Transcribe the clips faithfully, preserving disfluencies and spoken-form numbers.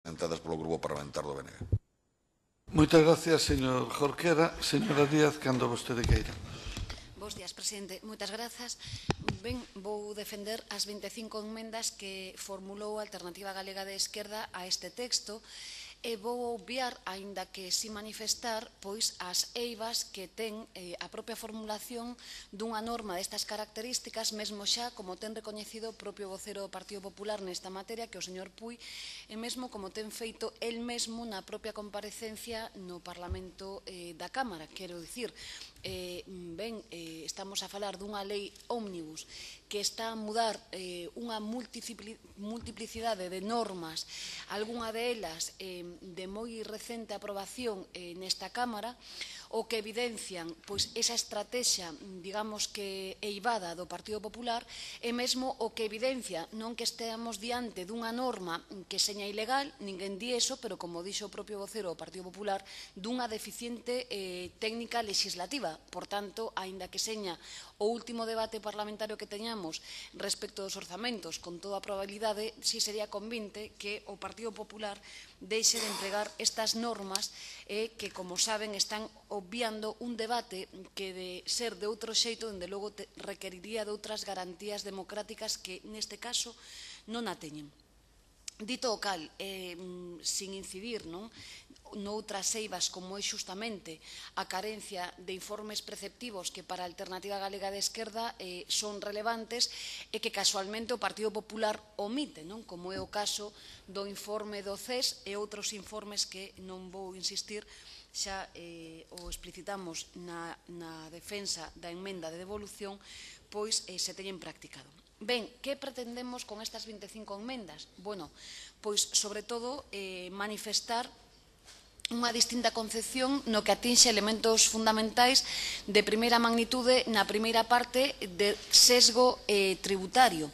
presentadas polo Grupo Parlamentar do B N G. Moitas gracias, señor Jorquera. Señora Díaz, cando vostede queira. Bos días, presidente. Moitas grazas. Ben, vou defender as vinte e cinco enmendas que formulou a Alternativa Galega de Esquerda a este texto e vou obviar, aínda que si manifestar, pois as eivas que ten eh, a propia formulación dunha norma destas características, mesmo xa como ten recoñecido o propio vocero do Partido Popular nesta materia, que o señor Puy, e mesmo como ten feito el mesmo na propia comparecencia no Parlamento eh, da Cámara. Quero dicir, eh, ben, eh, estamos a falar dunha lei ómnibus que está a mudar eh, unha multiplicidade de normas, algunha delas eh, de moi recente aprobación eh, nesta Cámara, o que evidencian pois, esa estrategia, digamos que eivada do Partido Popular, e mesmo o que evidencia non que esteamos diante dunha norma que seña ilegal, ninguén di eso, pero como dixo o propio vocero do Partido Popular, dunha deficiente eh, técnica legislativa. Por tanto, aínda que seña o último debate parlamentario que teñamos respecto dos orzamentos, con toda a probabilidade, si sería convinte que o Partido Popular deixe de empregar estas normas eh, que, como saben, están obviando un debate que de ser de outro xeito, dende logo te, requeriría de outras garantías democráticas que, neste caso, non a teñen. Dito o cal, eh, sin incidir non, noutras eivas como é xustamente a carencia de informes preceptivos que para a Alternativa Galega de Esquerda eh, son relevantes e que casualmente o Partido Popular omite, non? Como é o caso do informe do C E S e outros informes que non vou insistir, xa eh, o explicitamos na, na defensa da emenda de devolución, pois eh, se teñen practicado. Ben, que pretendemos con estas vinte e cinco enmendas? Bueno, pois, sobre todo, eh, manifestar unha distinta concepción no que atinxe elementos fundamentais de primeira magnitude na primeira parte de sesgo eh, tributario.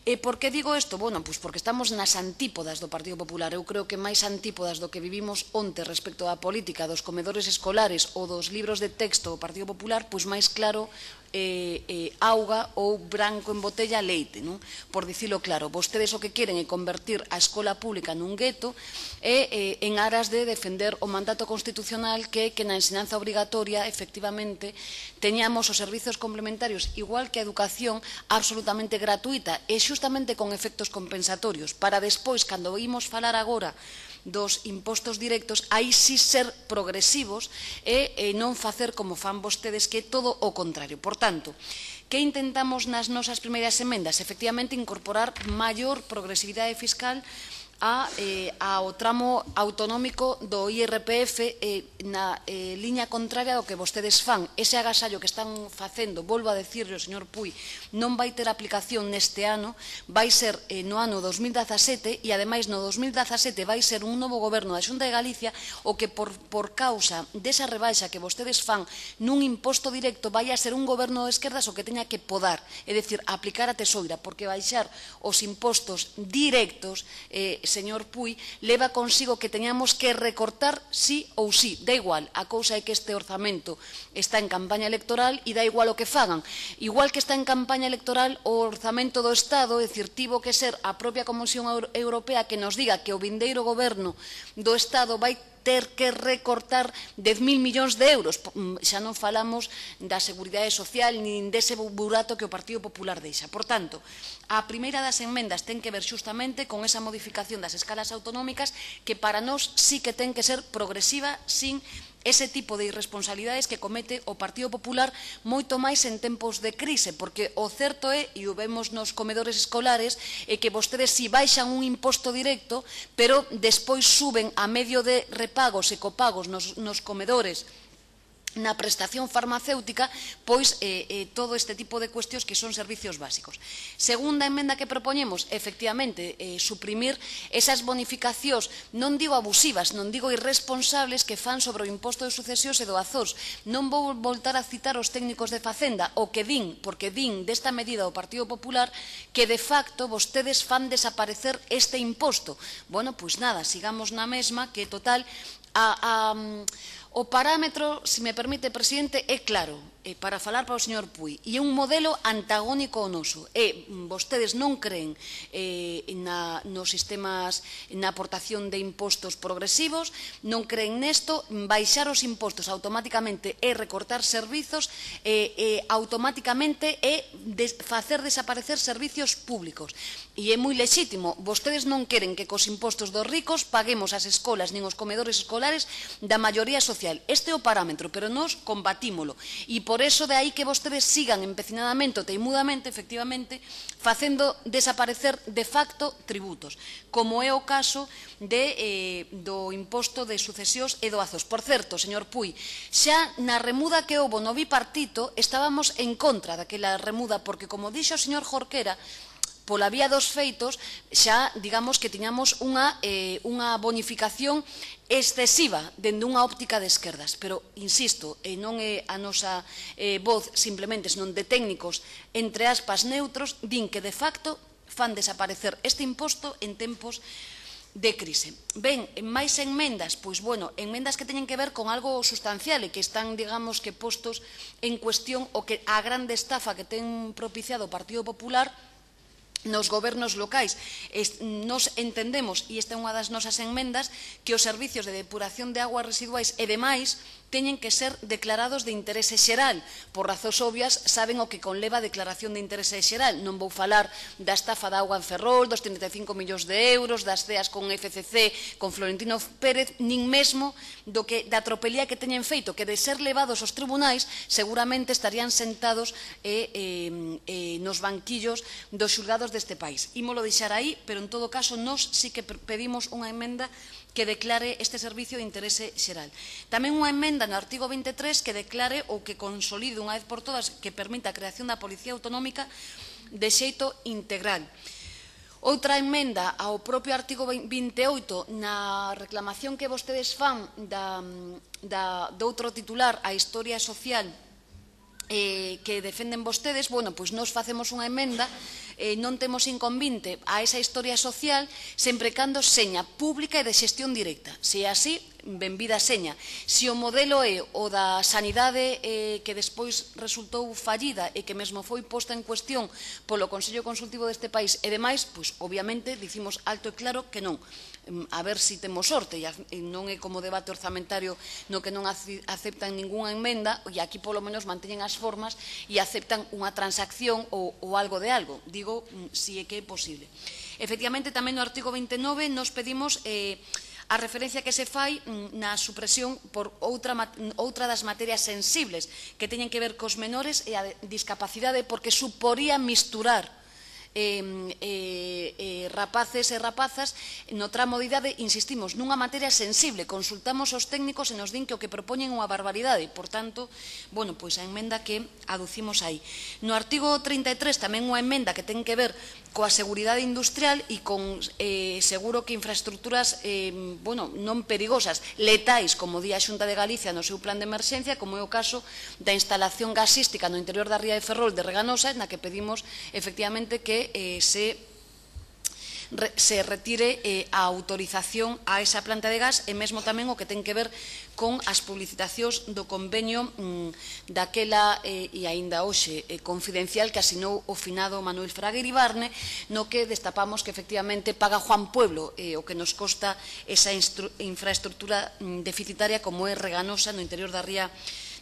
E por que digo isto? Bueno, pois porque estamos nas antípodas do Partido Popular. Eu creo que máis antípodas do que vivimos onte respecto á política dos comedores escolares ou dos libros de texto do Partido Popular, pois máis claro eh, eh, auga ou branco en botella leite, non? Por dicilo claro, vostedes o que queren é convertir a escola pública nun gueto e eh, en aras de defender o mandato constitucional que, que na ensinanza obrigatoria, efectivamente, teñamos os servizos complementarios, igual que a educación, absolutamente gratuita e justamente con efectos compensatorios, para despois, cando imos falar agora dos impostos directos, aí sí ser progresivos e, e non facer como fan vostedes, que é todo o contrario. Por tanto, que intentamos nas nosas primeiras emendas? Efectivamente, incorporar maior progresividade fiscal a, eh, ao tramo autonómico do I R P F eh, na eh, liña contraria do que vostedes fan. Ese agasallo que están facendo, volvo a decirle ao señor Puy, non vai ter aplicación neste ano, vai ser eh, no ano dos mil dezasete e, ademais, no dos mil dezasete vai ser un novo goberno da Xunta de Galicia o que, por, por causa desa rebaixa que vostedes fan nun imposto directo, vai a ser un goberno de esquerdas o que teña que podar, é dicir, aplicar a tesoira, porque baixar os impostos directos, eh, señor Puy, leva consigo que teñamos que recortar sí ou sí. Da igual, a cousa é que este orzamento está en campaña electoral e da igual o que fagan. Igual que está en campaña electoral o orzamento do Estado, é dicir, tivo que ser a propia Comisión Europea que nos diga que o vindeiro goberno do Estado vai ter que recortar dez mil millóns de euros. Xa non falamos da seguridade social nin dese burato que o Partido Popular deixa. Por tanto, a primeira das enmendas ten que ver xustamente con esa modificación das escalas autonómicas que para nós sí que ten que ser progresiva sin ese tipo de irresponsabilidades que comete o Partido Popular moito máis en tempos de crise, porque o certo é, e o vemos nos comedores escolares, é que vostedes si baixan un imposto directo, pero despois suben a medio de repagos e copagos nos, nos comedores, na prestación farmacéutica, pois eh, eh, todo este tipo de cuestións que son servicios básicos. Segunda emenda que propoñemos, efectivamente, eh, suprimir esas bonificacións, non digo abusivas, non digo irresponsables que fan sobre o imposto de sucesións e do Azós. Non vou voltar a citar os técnicos de Facenda, o que din, porque din desta medida do Partido Popular que de facto vostedes fan desaparecer este imposto. Bueno, pois nada, sigamos na mesma, que total a, a, o parámetro, se me permite, presidente, é claro, eh, para falar para o señor Puig, e é un modelo antagónico ao noso. E vostedes non creen eh, na, nos sistemas, na aportación de impostos progresivos, non creen nesto, baixar os impostos automáticamente é recortar servizos, e eh, automáticamente é des, facer desaparecer servicios públicos. E é moi lexítimo, vostedes non queren que cos impostos dos ricos paguemos as escolas nin os comedores escolares da maioría social. Este é o parámetro, pero nós combatímolo. E por eso de aí que vostedes sigan empecinadamente ou teimudamente, efectivamente, facendo desaparecer de facto tributos, como é o caso de, eh, do imposto de sucesións e doazos. Por certo, señor Puig, xa na remuda que houbo no bipartito estábamos en contra daquela remuda, porque, como dixo o señor Jorquera, pola vía dos feitos, xa, digamos, que tiñamos unha, eh, unha bonificación excesiva dende unha óptica de esquerdas. Pero, insisto, eh, non é a nosa eh, voz simplemente, senón de técnicos, entre aspas, neutros, din que, de facto, fan desaparecer este imposto en tempos de crise. Ben, máis enmendas, pois, bueno, enmendas que teñen que ver con algo sustancial e que están, digamos, que postos en cuestión o que a grande estafa que ten propiciado o Partido Popular nos gobernos locais. Nos entendemos, e esta é unha das nosas enmendas, que os servicios de depuración de aguas residuais e demais teñen que ser declarados de interese xeral. Por razóns obvias, saben o que conleva a declaración de interese xeral. Non vou falar da estafa da auga en Ferrol, dos trinta e cinco millóns de euros, das ceas con F C C, con Florentino Pérez, nin mesmo do que, da tropelía que teñen feito, que de ser levados aos tribunais, seguramente estarían sentados eh, eh, eh, nos banquillos dos xulgados deste país. Ímolo deixar aí, pero en todo caso, nós sí que pedimos unha emenda que declare este servicio de interese xeral. Tamén unha emenda no artigo vinte e tres que declare ou que consolide unha vez por todas que permita a creación da Policía Autonómica de xeito integral. Outra emenda ao propio artigo vinte e oito, na reclamación que vostedes fan da, da, de outro titular, a historia social eh, que defenden vostedes, bueno, pois nós facemos unha emenda, eh, non temos inconvinte a esa historia social sempre cando seña pública e de xestión directa. Se é así, benvida seña. Se o modelo é o da sanidade eh, que despois resultou fallida e que mesmo foi posta en cuestión polo Consello Consultivo deste país e demais, pois obviamente dicimos alto e claro que non. A ver se temos sorte, e non é como debate orzamentario no que non aceptan ningunha enmenda e aquí polo menos manteñen as formas e aceptan unha transacción ou, ou algo de algo. Digo, si é que é posible. Efectivamente, tamén no artigo vinte e nove nos pedimos eh, a referencia que se fai na supresión por outra, outra das materias sensibles que teñen que ver cos menores e a discapacidade, porque suporía misturar Eh, eh, eh, rapaces e rapazas no tramo de idade, insistimos, nunha materia sensible. Consultamos os técnicos e nos din que o que propoñen é unha barbaridade. Por tanto, bueno, pois a emenda que aducimos aí. No artigo trinta e tres tamén unha emenda que ten que ver coa seguridade industrial e con eh, seguro que infraestructuras eh, bueno, non perigosas, letais, como di a Xunta de Galicia no seu plan de emerxencia, como é o caso da instalación gasística no interior da ría de Ferrol de Reganosa, na que pedimos efectivamente que eh, se se retire eh, a autorización a esa planta de gas e mesmo tamén o que ten que ver con as publicitacións do convenio mm, daquela eh, e aínda hoxe eh, confidencial que asinou o finado Manuel Fraga Iribarne, no que destapamos que efectivamente paga Juan Pueblo eh, o que nos costa esa infraestructura mm, deficitaria como é Reganosa no interior da ría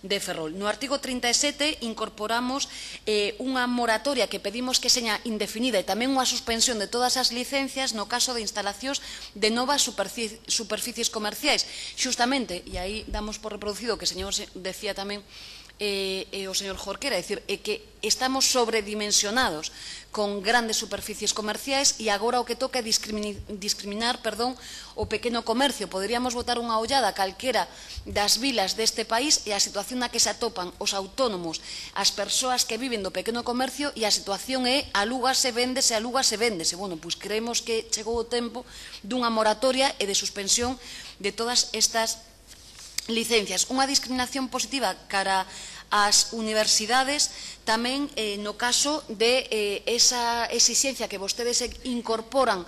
de Ferrol. No artigo trinta e sete incorporamos eh, unha moratoria que pedimos que seña indefinida e tamén unha suspensión de todas as licencias no caso de instalacións de novas superficies comerciais. Xustamente, e aí damos por reproducido que o señor decía tamén eh, eh, o señor Jorquera, é dicir, é que estamos sobredimensionados con grandes superficies comerciais e agora o que toca é discriminar, discriminar perdón, o pequeno comercio. Poderíamos botar unha ollada a calquera das vilas deste país e a situación na que se atopan os autónomos, as persoas que viven do pequeno comercio, e a situación é alúgase, véndese, alúgase, véndese. Bueno, pois creemos que chegou o tempo dunha moratoria e de suspensión de todas estas licencias. Unha discriminación positiva cara ás universidades tamén eh, no caso de eh, esa exixencia que vostedes incorporan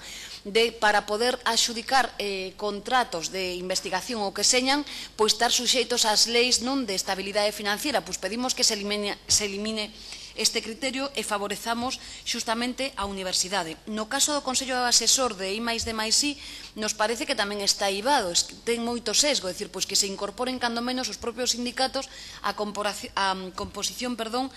de, para poder adxudicar eh, contratos de investigación ou que señan, pois estar suxeitos ás leis non de estabilidade financiera. Pois pedimos que se elimine, se elimine este criterio e favorezamos xustamente a universidade. No caso do Consello Asesor de I máis D máis I, nos parece que tamén está ibado, ten moito sesgo, é dicir, pois que se incorporen cando menos os propios sindicatos a composición, perdón,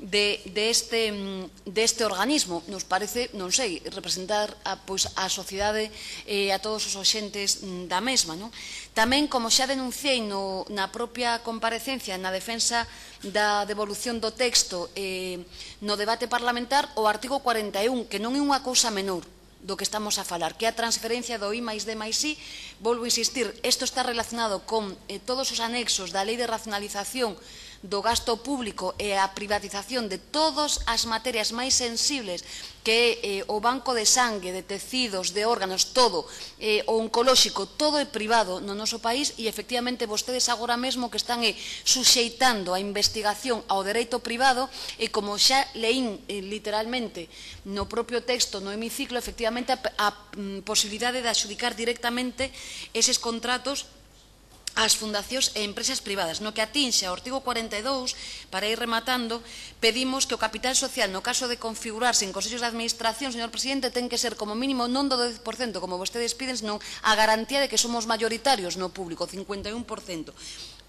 de, de, este, de este organismo. Nos parece, non sei, representar a, pois, a sociedade e eh, a todos os oxentes da mesma. Non? Tamén, como xa denunciei no, na propia comparecencia na defensa da devolución do texto eh, no debate parlamentar, o artigo cuarenta e un, que non é unha cousa menor do que estamos a falar, que é a transferencia do I máis D máis I. Volvo a insistir, isto está relacionado con eh, todos os anexos da Lei de Racionalización do Gasto Público e a privatización de todas as materias máis sensibles, que é eh, o banco de sangue, de tecidos, de órganos, todo, eh, o oncolóxico, todo é privado no noso país, e efectivamente vostedes agora mesmo que están eh, suxeitando a investigación ao dereito privado, e como xa leín eh, literalmente no propio texto no hemiciclo, efectivamente a, a, a posibilidade de adxudicar directamente eses contratos ás fundacións e empresas privadas. No que atinxe ao artigo cuarenta e dous, para ir rematando, pedimos que o capital social, no caso de configurarse en consellos de administración, señor presidente, ten que ser como mínimo non do dez por cento, como vostedes piden, senón a garantía de que somos mayoritarios no público, cincuenta e un por cento.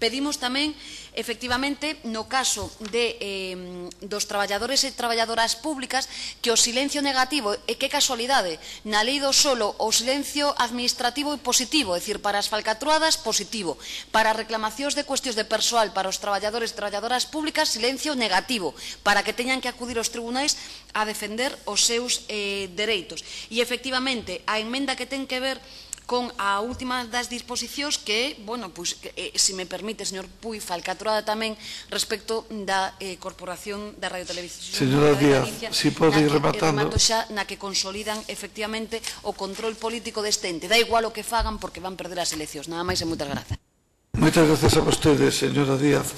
Pedimos tamén, efectivamente, no caso de, eh, dos traballadores e traballadoras públicas, que o silencio negativo, e que casualidade, na lei do solo, o silencio administrativo é positivo, é dicir, para as falcatruadas, positivo, para reclamacións de cuestións de persoal para os traballadores e traballadoras públicas, silencio negativo, para que teñan que acudir aos tribunais a defender os seus eh, dereitos. E, efectivamente, a emenda que ten que ver con a última das disposicións, que, bueno, pois, eh, se me permite, señor Puy, falcatruada tamén respecto da eh, Corporación da Radio Televisión. Señora Díaz, si pode ir rematando. Remato xa na que consolidan efectivamente o control político deste ente. Da igual o que fagan porque van perder as eleccións. Nada máis e moitas grazas. Moitas grazas a vostedes, señora Díaz.